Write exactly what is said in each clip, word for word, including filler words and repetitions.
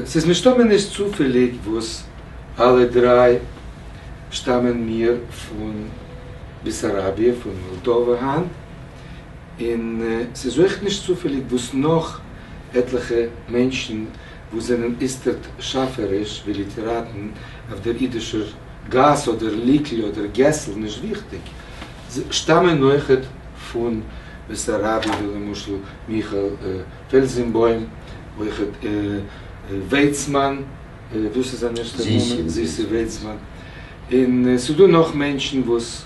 ס'איז מסתמא נישט צופעליג וואס אלע דריי שטאמען מיר פון בעסאראביע, פון מאלדאווע היינט, און ס'איז אויך נישט צופעליג וואס נאך עטליכע מענטשן וואס זענען איצטערט שאפעריש ווי ליטעראטן אויף דער אידישער גאס אדער ליקל אדער געסל, נישט וויכטיג, שטאמען אויכעט פון בעסאראביע, ווי למשל מיכאל פעלזענבוים, אויכעט ווייצמאן, וואס איז זיין ערשטער נאמען? זיסי ווייצמאן. און ס'איז דא נאך מענטשן וואס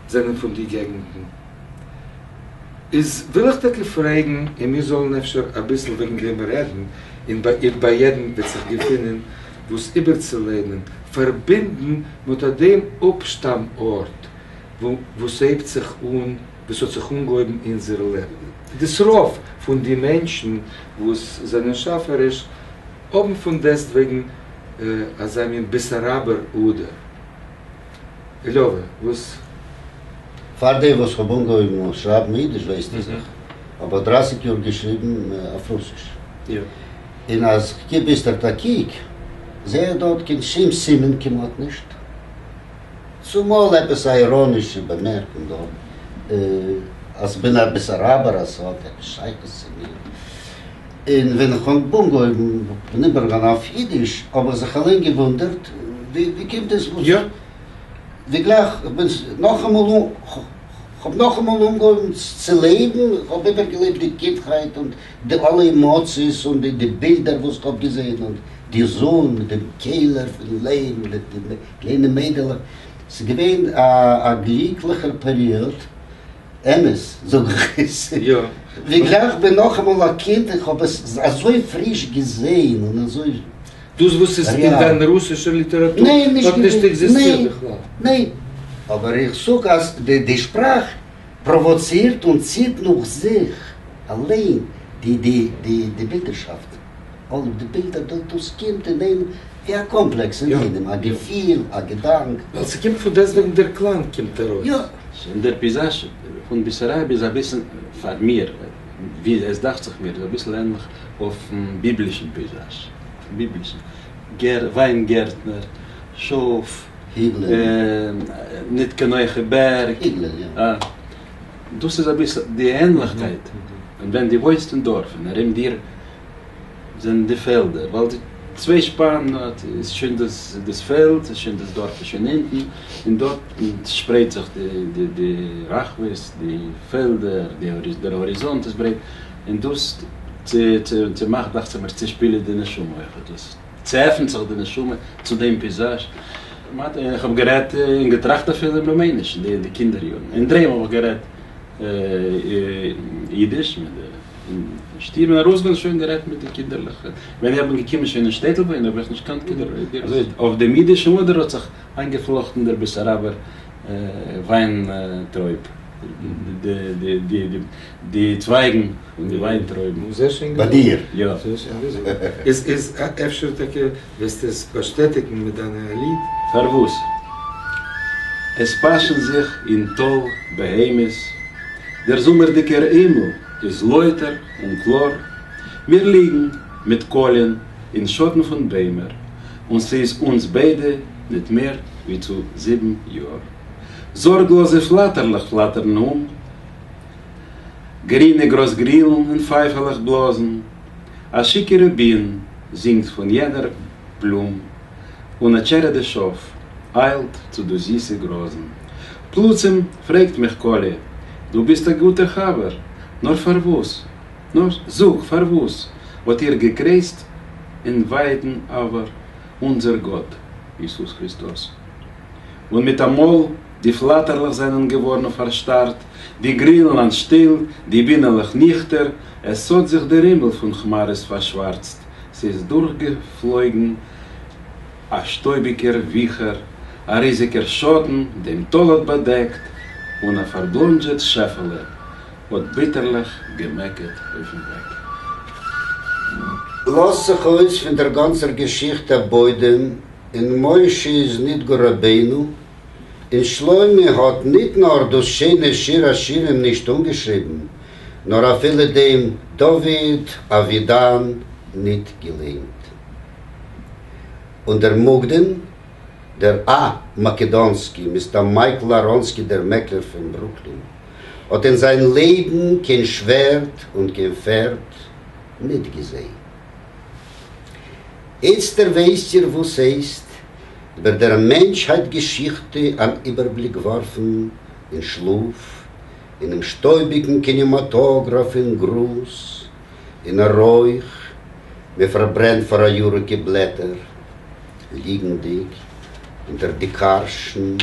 זענען פון די געגנטן. איז וויל איך טאקע פרעגן, און מיר זאלן אפשר אביסל וועגן דעם רעדן, און ביי יעדן וועט זיך געפינען וואס איבערצולערנען, פארבינדן מיט אט דעם אפשטאם ארט וואו ס'הייבט זיך אן, וואו ס'האט זיך אנגעהויבן אונזער לעבן. דאס רוב פון די מענטשן וואס זענען שאפעריש האבן פון דעסטוועגן אזא מין בעסאראבער אדער. ליאווע, וואס? פאר דעם וואס כ'האב אנגעהויבן שרייבן אידיש ווייסטו זיך, האב איך דרייסיג יאר געשריבן אויף רוסיש. און אז כ'גיב איצטערט א קוק, זעה איך דארט קיין שום סימן כמעט נישט. צומאל עפעס א איראנישע באמערקונג דארט, אז כ'בין א בעסאראבער אז ס'האט עפעס שייכות צו מיר. און ווען כ'האב אנגעהויבן בין איבערגעגאנגען אויף אידיש, האב איך זיך אליין געוואונדערט, ווי קומט דאס וואס ווי גלייך כ'בין נאכאמאל כ'האב נאכאמאל אנגעהויבן צו לעבן, כ'האב איבערגעלעבט די קינדהייט און די אלע עמאציעס און די בילדער וואס כ'האב געזען און די זון מיט דעם קעלער פון ליים מיט די קליינע מיידלעך, ס'איז געווען א גליקליכער פעריאד, אמת זאג איך עס, ווי גלייך כ'בין נאכאמאל א קינד און כ'האב עס אזוי פריש געזען און אזוי. דאס וואס איז אין דיין רוסישער ליטעראטור האט נישט עקזיסטירט בכלל. ניין, אבער איך זאג אז די שפראך פראוואצירט און ציט נאך זיך אליין די בילדערשאפט, אלע די בילדער דאס קומט אין איינעם ווי א קאמפלעקס אין איינעם, א געפיל, א געדאנק. ווייל ס'קומט פון דעסטוועגן דער קלאנג קומט ארויס. יא. און דער פייזאזש פון בעסאראביע איז אביסל פאר מיר, ווי עס דאכט זיך מיר, איז אביסל ענליך אויפן ביבלישן פייזאזש. ביבלישן. גער, וויינגערטנער, שאף, ניט קיין הויכע בערג. דאס איז אביסל די ענליכקייט. און ווען דו וואוינסט אין דארף און ארום דיר זענען די פעלדער, ווייל די צוויי שפאן איז שוין דאס דאס פעלד, איז שוין דאס דארף איז שוין אונטן, און דארט שפרייט זיך די די די רחבות, די פעלדער, די דער האריזאנט איז ברייט, און דאס צומאכט דאכט זיך מיר צושפילעט די נשמה אויך, דאס צעעפנט זיך די נשמה צו דעם פייזאזש. איך האב גערעדט און געטראכט אפילו אין רומעניש אין די קינדער יארן, אין דר'היים האב איך גערעדט אידיש מיט די אין שטוב און ארויסגיין שוין גערעדט מיט די קינדערלעך, ווען איך בין געקומען שוין אין שטעטל וואוינען האב איך נישט געקאנט קיין אזוי אויף דעם אידישן אדער האט זיך איינגעפלאכטן דער בעסאראבער וויינטרויב, די צווייגן פון די וויינטרויבן. זייער שיין ביי דיר? יא. זייער שיין געזאגט. איז איז אפשר טאקע וועסטו עס באשטעטיגן מיט דיינע ליד? פארוואס? עס פאשען זיך אין טאל בהמות, דער זומערדיגער הימל איז לויטער און קלאר, מיר ליגן מיט קאליען אין שאטן פון ביימער, און ס'איז אונז ביידע ניט מער ווי צו זיבן יאר. זארגלאזע פלאטערלעך פלאטערן אום, גרינע גראזגרילן און פייפעלעך בלאזן, א שיכורע בין זינגט פון יענער בלום, און א טשערעדע שאף איילט צו די זיסע גראזן. פלוצים פרעגט מיך קאליע, דו ביסט א גוטער חבר, נאר פארוואס, נאר זאג פארוואס האט איר געקרייצט אין ווייטן עבר אונזער גאט יעזוס כריסטוס? און מיט אמאל די פלאטערלעך זענען געווארן פארשטארט, די גרילן אנטשטילט, די בינעלעך ניכטער, עס האט זיך דער הימל פון כמארעס פארשווארצט, ס'איז דורכגעפלויגן א שטויביגער וויכער, א ריזיגער שאטן דעם טאל האט באדעקט, און א פארבלאנדזשעט שעפעלע האט ביטערליך געמעקעט אויפן וועג. לאזט זיך אויס פון דער גאנצער געשיכטע א בוידעם, און משה איז ניט גאר רבינו, און שלמה האט ניט נאר דאס שיינע שיר השירים נישט אנגעשריבן, נאר אפילו דעם דוד אבידן ניט געלייענט. און דער מוקדן, דער א. מאקעדאנסקי, מיסטער מייקל אראנסקי דער מעקלער פון ברוקלין, האט אין זיין לעבן קיין שווערד און קיין פערד ניט געזען. איצטער ווייסט איר וואס הייסט איבער דער מענטשהייט-געשיכטע אן איבערבליק ווארפן אין שלאף, אינעם שטויביקן קינעמאטאגראף אין גראז, אין א רויך, מען פארברענט פאראיאריקע בלעטער, ליגנדיק אונטער די קארשן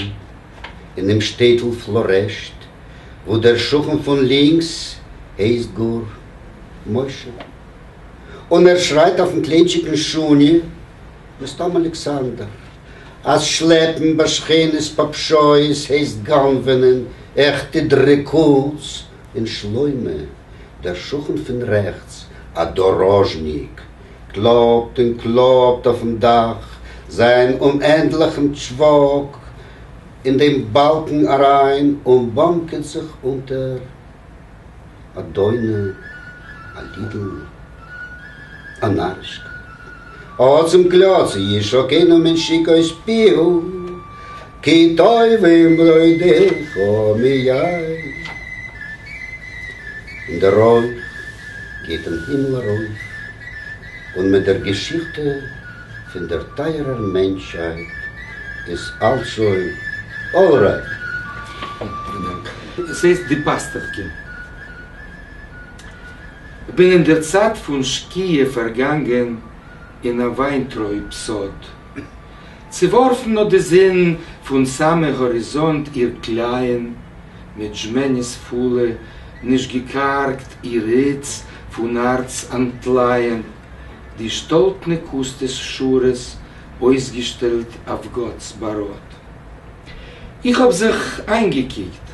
אינעם שטעטל פלארעשט, וואו דער שכן פון לינקס הייסט גאר משה, און ער שרייט אויפן קליינטשיקן שוני, מסתם אלכסנדר, אז שלעפן בשכנות פאפשויעס הייסט גנב'ענען עכטע דריקות, און שלמה, דער שכן פון רעכטס, א דאראזשניק, קלאפט און קלאפט אויפן דאך זיין אומענדליכן טשוואק אין דעם באלקן אריין און באמקעט זיך אונטער א דונא, א לידל, א נארישקייט. עצם קלאץ ישקנו מנשיקות פיהו כי טובים בגדיך מיין. און דער רויך גייט אין הימל ארויף, און מיט דער געשיכטע פון דער טייערער מענטשהייט איז אלץ שוין אלרייט. עס הייסט די פאסטעכקע. כ'בין אין דער צייט פון שקיעה פארגאנגען אין א וויינטרויב סאד. צעווארפן האט די זון פון סאמע האריזאנט איר קלייען מיט זשמעניעס פולע, נישט געקארגט איר היץ פון הארץ אנטלייען, די שטאלטנע קוסטעס שורות אויסגעשטעלט אויף גאט'ס באראט. איך האב זיך איינגעקוקט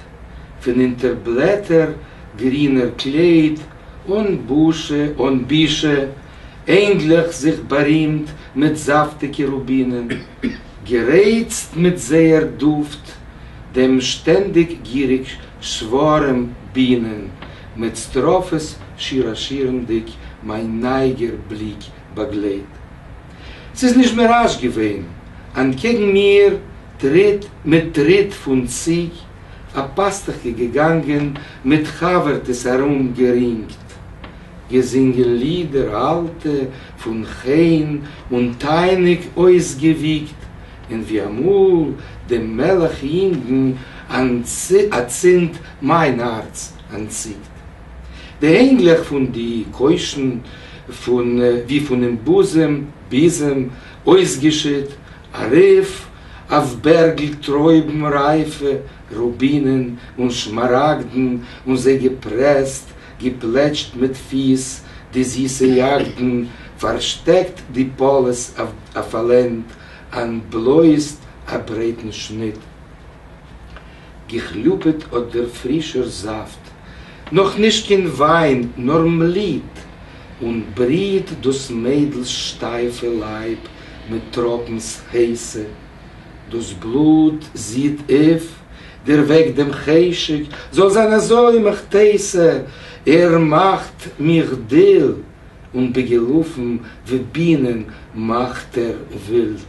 פון אונטער בלעטער גרינער קלייט, אן בושה, אן בישה, אינגלעך זיך בארימט מיט זאפטיגע רובינען, גערייצט מיט זייער דופט דעם שטענדיג גיריג שווארעם בינען, מיט סטראפעס שיר השירים'דיג מיין נייגער בליק באגלייט. ס'איז נישט מיראזש געווען, אנטקעגן מיר טריט מיט טריט פון ציג א פאסטעכקע געגאנגען מיט חבר'טעס ארומגערינגט, געזינגען לידער אלטע פון חן און תענוג אויסגעוויגט, און ווי אמאל דעם מלך יונגן אצינד מיין הארץ אנטציקט. די הענגלעך פון די קוישן פון ווי פונעם בוזעם, ביזעם, אויסגעשיט, ארויף אויף בערגל טרויבן רייפע, רובינען און שמאראגדן, און זיי געפרעסט, געפלעטשט מיט פיס די זיסע יאגדן, פארשטעקט די פאלעס אויף א לענד, אנטבלויזט א ברייטן שניט. געכליפּעט האָט דער פֿרישער זאַפֿט, נאָך נישט קיין ווײַן, נאָר מליט, און בריט דאָס מיידלס שטײַפֿע לײַב מיט טראָפּנס הייסע. דאָס בלוט זידט אויף, דערוועקט דעם חשק, זאָל זײַן אַזוי, מהיכא־תּיתי, ער מאַכט מיך דיל, און בגילופֿין ווי בינען מאַכט ער ווילד.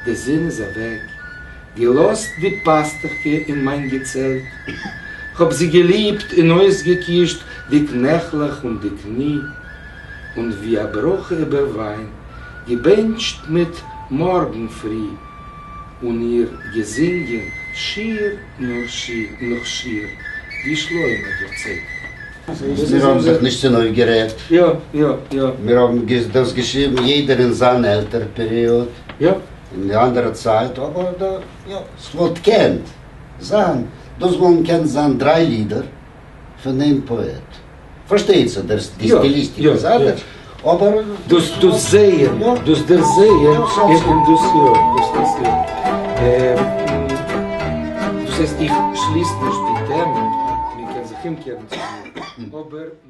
די זון איז אַוועק, געלאָזט די פּאַסטעכקע אין מײַן געצעלט. כ'האָב זי געליבט און אויסגעקושט די קנעכלעך און די קני, און ווי אַ ברכה איבער ווײַן, געבענטשט מיט מאָרגן פֿרי, און איר געזונגען שיר נאָך שיר, ווי שלמה דערציילט. מיר האָבן זיך נישט צונויפֿגערעדט. יא, יא, יא. מיר האָבן דאָס געשריבן יעדער אין זיין עלטער-פּעריאָד. יא. אין די אנדערע צייט, אבער דא, יא, ס'וואלט קענט זיין, דאס וואלטן קענט זיין דריי לידער פון איין פאעט. פארשטייט זיך, דער די סטיליסטיק איז אנדערש, אבער. דאס דאס זעען, דאס דערזעען און דאס יא, דאס דאס יא. דאס הייסט, איך שליס נישט די טעמע, מען קען זיך אומקערן צו מיר, אבער.